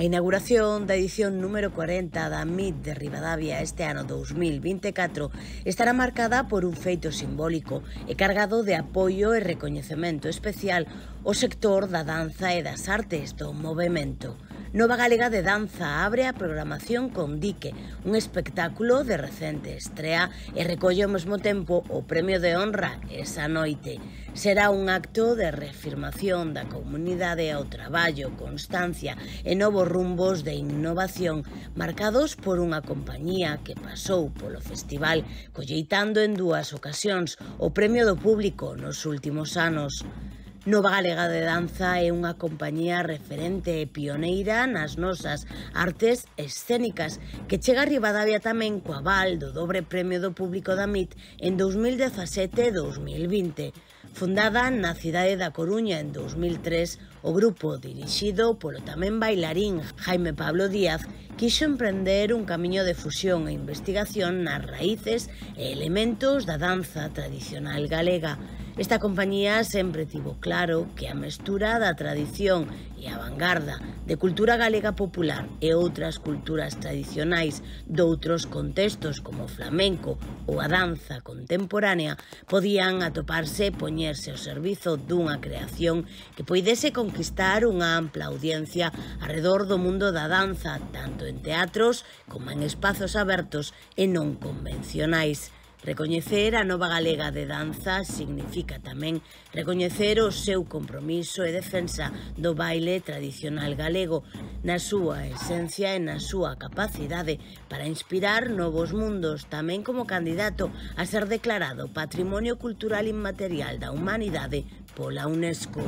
A inauguración da edición número 40 da MIT de Ribadavia este ano 2024 estará marcada por un feito simbólico e cargado de apoio e recoñecemento especial ao sector da danza e das artes do movemento. Nova Galega de Danza abre a programación con Dique, un espectáculo de recente estrea e recolle ao mesmo tempo o premio de honra esa noite. Será un acto de reafirmación da comunidade ao traballo, constancia e novos rumbos de innovación marcados por unha compañía que pasou polo festival colleitando en dúas ocasións o premio do público nos últimos anos. Nova Galega de Danza é unha compañía referente e pioneira nas nosas artes escénicas que chega a Ribadavia tamén co aval do dobre premio do público da MIT en 2017 e 2020. Fundada na cidade da Coruña en 2003, o grupo, dirixido polo tamén bailarín Jaime Pablo Díaz, quixo emprender un camiño de fusión e investigación nas raíces e elementos da danza tradicional galega. Esta compañía sempre tivo claro que a mestura da tradición e a vanguarda de cultura galega popular e outras culturas tradicionais doutros contextos como o flamenco ou a danza contemporánea podían atoparse e poñerse ao servizo dunha creación que poidese conquistar unha ampla audiencia arredor do mundo da danza, tanto en teatros como en espazos abertos e non convencionais. Recoñecer a Nova Galega de Danza significa tamén recoñecer o seu compromiso e defensa do baile tradicional galego na súa esencia e na súa capacidade para inspirar novos mundos, tamén como candidato a ser declarado Patrimonio Cultural Inmaterial da Humanidade pola UNESCO.